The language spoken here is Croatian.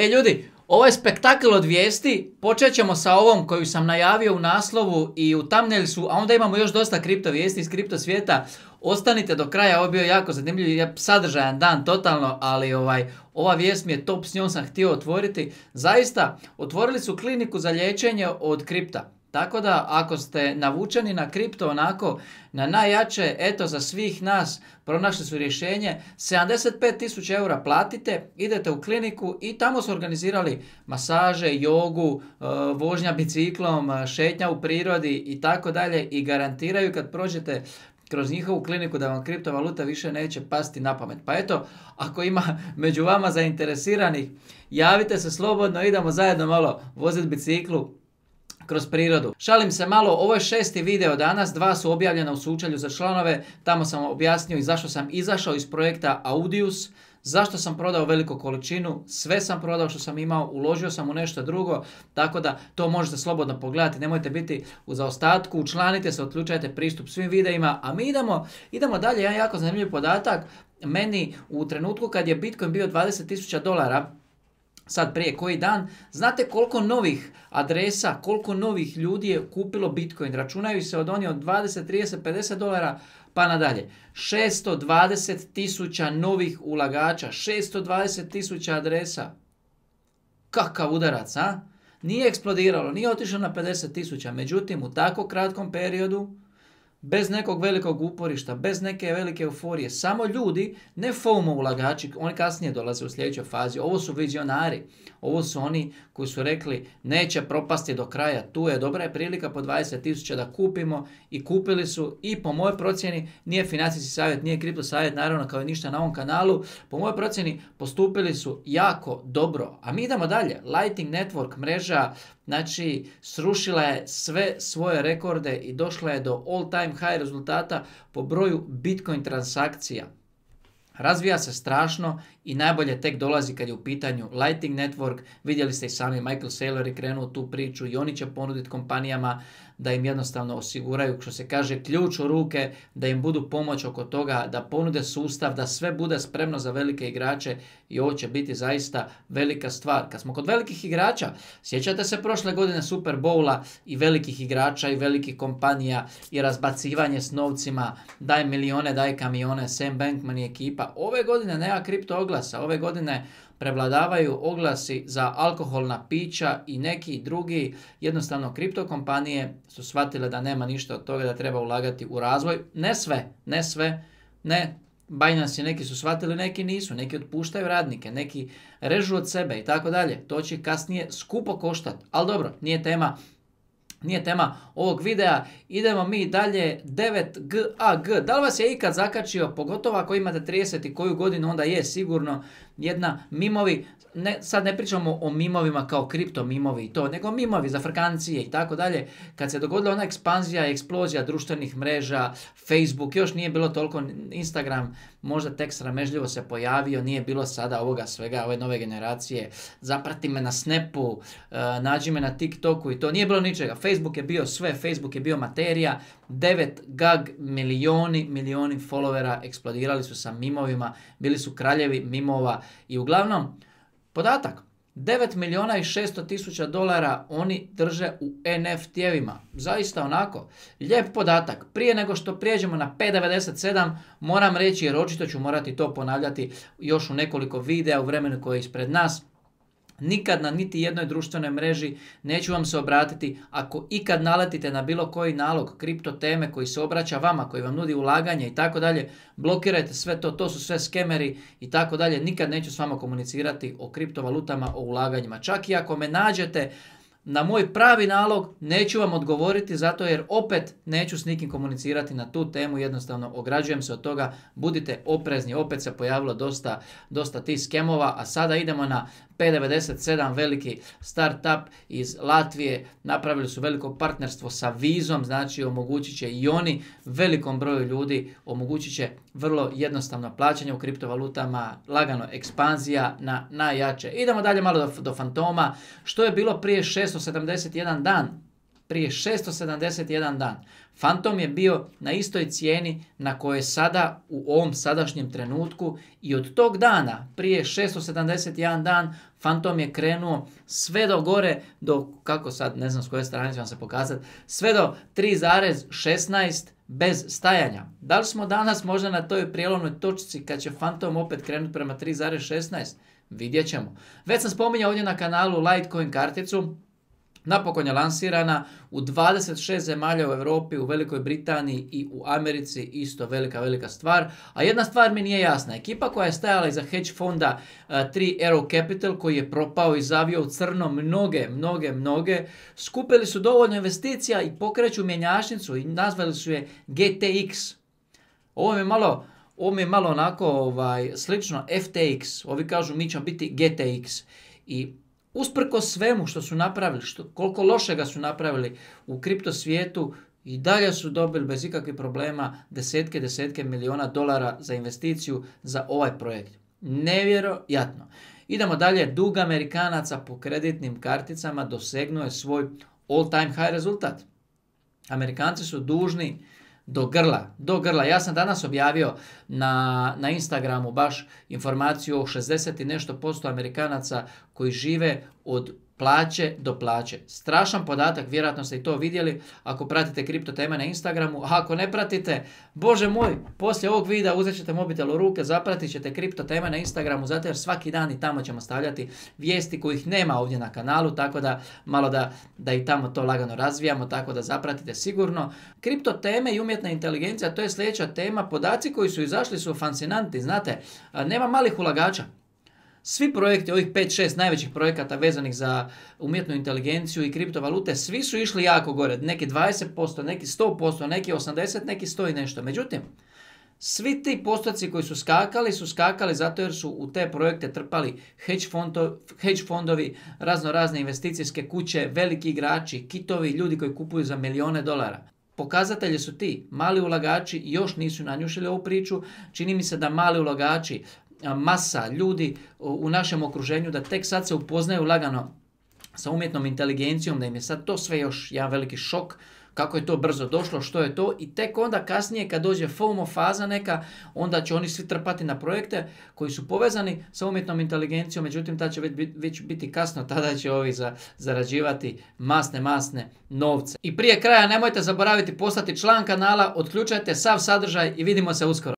Ljudi, ovo je spektakl od vijesti. Počet ćemo sa ovom koju sam najavio u naslovu i u thumbnailsu, a onda imamo još dosta kripto vijesti iz kripto svijeta. Ostanite do kraja, ovo je bio jako zanimljiv, sadržajan dan totalno, ali ova vijest mi je top, s njom sam htio otvoriti. Zaista, otvorili su kliniku za liječenje od kripta. Tako da, ako ste navučeni na kripto onako, na najjače, eto za svih nas, pronašli su rješenje, 75.000 eura platite, idete u kliniku i tamo su organizirali masaže, jogu, vožnja biciklom, šetnja u prirodi i tako dalje i garantiraju kad prođete kroz njihovu kliniku da vam kriptovaluta više neće pasti na pamet. Pa eto, ako ima među vama zainteresiranih, javite se slobodno, idemo zajedno malo voziti biciklu kroz prirodu. Šalim se malo, ovo je 6. video danas, 2 su objavljena u sučelju za članove, tamo sam objasnio i zašto sam izašao iz projekta Audius, zašto sam prodao veliku količinu, sve sam prodao što sam imao, uložio sam u nešto drugo, tako da to možete slobodno pogledati, nemojte biti u zaostatku, učlanite se, otključajte pristup svim videima, a mi idemo dalje, jedan jako zanimljiv podatak, meni u trenutku kad je Bitcoin bio $20,000, sad prije koji dan, znate koliko novih adresa, koliko novih ljudi je kupilo Bitcoin? Računaju se od oni od 20, 30, $50 pa nadalje. 620.000 novih ulagača, 620.000 adresa. Kakav udarac, a? Nije eksplodiralo, nije otišlo na 50.000, međutim u tako kratkom periodu, bez nekog velikog uporišta, bez neke velike euforije, samo ljudi, ne FOMO ulagači, oni kasnije dolaze u sljedećoj fazi, ovo su vizionari, ovo su oni koji su rekli neće propasti do kraja, tu je dobra prilika po 20.000 da kupimo i kupili su i po mojoj procjeni, nije financijski savjet, nije kripto savjet, naravno kao i ništa na ovom kanalu, po mojoj procjeni postupili su jako dobro, a mi idemo dalje, Lightning Network mreža, znači srušila je sve svoje rekorde i došla je do all time high rezultata po broju Bitcoin transakcija. Razvija se strašno i najbolje tek dolazi kad je u pitanju Lightning Network. Vidjeli ste i sami, Michael Saylor je krenuo u tu priču i oni će ponuditi kompanijama da im jednostavno osiguraju, što se kaže, ključ u ruke, da im budu pomoć oko toga, da ponude sustav, da sve bude spremno za velike igrače i ovo će biti zaista velika stvar. Kad smo kod velikih igrača, sjećate se prošle godine Super Bowla i velikih igrača i velikih kompanija i razbacivanje s novcima, daj milijone, daj kamione, Sam Bankman i ekipa. Ove godine nema kripto oglasa, ove godine prevladavaju oglasi za alkoholna pića i neki drugi, jednostavno kripto kompanije su shvatile da nema ništa od toga, da treba ulagati u razvoj. Ne sve, Binance i neki su shvatili, neki nisu, neki otpuštaju radnike, neki režu od sebe i tako dalje. To će kasnije skupo koštati, ali dobro, nije tema ovog videa. Idemo mi dalje, 9GAG. Da li vas je ikad zakačio, pogotovo ako imate 30 i koju godinu, onda je sigurno jedna mimovi, sad ne pričamo o mimovima kao kripto mimovi i to, nego mimovi za frkancije i tako dalje. Kad se dogodila ona ekspanzija i eksplozija društvenih mreža, Facebook, još nije bilo toliko, Instagram možda tek sramežljivo se pojavio, nije bilo sada ovoga svega, ove nove generacije, zaprati me na Snapu, nađi me na TikToku i to, nije bilo ničega. Facebook je bio sve, Facebook je bio materija, 9GAG, milijoni followera, eksplodirali su sa mimovima, bili su kraljevi mimova i uglavnom, podatak, $9.600.000 oni drže u NFT-evima. Zaista onako, lijep podatak. Prije nego što prijeđemo na P97, moram reći, jer očito ću morati to ponavljati još u nekoliko videa u vremenu koje je ispred nas, nikad na niti jednoj društvenoj mreži neću vam se obratiti ako ikad naletite na bilo koji nalog kripto teme koji se obraća vama, koji vam nudi ulaganje i tako dalje, blokirajte sve to, to su sve skemeri i tako dalje, nikad neću s vama komunicirati o kriptovalutama, o ulaganjima. Čak i ako me nađete na moj pravi nalog, neću vam odgovoriti zato jer opet neću s nikim komunicirati na tu temu, jednostavno ograđujem se od toga, budite oprezni, opet se pojavilo dosta tih skemova, a sada idemo na P97, veliki startup iz Latvije, napravili su veliko partnerstvo sa Vizom, znači omogućit će i oni velikom broju ljudi, omogućit će vrlo jednostavno plaćanje u kriptovalutama, lagano ekspanzija na najjače. Idemo dalje malo do fantoma, što je bilo prije 671 dan. prije 671 dan. Fantom je bio na istoj cijeni na kojoj je sada u ovom sadašnjem trenutku i od tog dana, prije 671 dan, Fantom je krenuo sve do gore, do, kako sad, ne znam s koje strane ću vam se pokazati, sve do 3,16 bez stajanja. Da li smo danas možda na toj prijelomnoj točci kad će Fantom opet krenuti prema 3,16? Vidjet ćemo. Već sam spominjao ovdje na kanalu Litecoin karticu. Napokon je lansirana u 26 zemalja u Europi, u Velikoj Britaniji i u Americi, isto velika stvar. A jedna stvar mi nije jasna. Ekipa koja je stajala iza hedge fonda 3 Arrow Capital, koji je propao i zavio u crno mnoge, skupili su dovoljno investicija i pokreću mjenjačnicu i nazvali su je GTX. Ovo mi je malo onako slično FTX. Ovi kažu mi ćemo biti GTX. I usprko svemu što su napravili, koliko lošega su napravili u kripto svijetu, i dalje su dobili bez ikakvih problema desetke milijuna dolara za investiciju za ovaj projekt. Nevjerojatno. Idemo dalje. Dug Amerikanaca po kreditnim karticama dosegnuo je svoj all time high rezultat. Amerikanci su dužni do grla. Ja sam danas objavio na Instagramu baš informaciju o 60 i nešto % Amerikanaca koji žive od plaće do plaće. Strašan podatak, vjerojatno ste i to vidjeli ako pratite kripto teme na Instagramu. A ako ne pratite, bože moj, poslije ovog videa uzet ćete mobitel u ruke, zapratit ćete kripto teme na Instagramu, zato jer svaki dan i tamo ćemo stavljati vijesti kojih nema ovdje na kanalu, tako da malo da i tamo to lagano razvijamo, tako da zapratite sigurno. Kripto teme i umjetna inteligencija, to je sljedeća tema. Podaci koji su izašli su fascinantni, znate, nema malih ulagača. Svi projekti, ovih 5-6 najvećih projekata vezanih za umjetnu inteligenciju i kriptovalute, svi su išli jako gore. Neki 20%, neki 100%, neki 80%, neki 100 i nešto. Međutim, svi ti postoci koji su skakali zato jer su u te projekte trpali hedge fondovi, razne investicijske kuće, veliki igrači, kitovi, ljudi koji kupuju za milijune dolara. Pokazatelji su ti. Mali ulagači još nisu nanjušili ovu priču. Čini mi se da mali ulagači, masa ljudi u našem okruženju, da tek sad se upoznaju lagano sa umjetnom inteligencijom, da im je sad to sve još jedan veliki šok, kako je to brzo došlo, što je to, i tek onda kasnije kad dođe FOMO faza neka, onda će oni svi trpati na projekte koji su povezani sa umjetnom inteligencijom, međutim tada će već biti kasno, tada će ovi zarađivati masne novce. I prije kraja nemojte zaboraviti postati član kanala, otključajte sav sadržaj i vidimo se uskoro.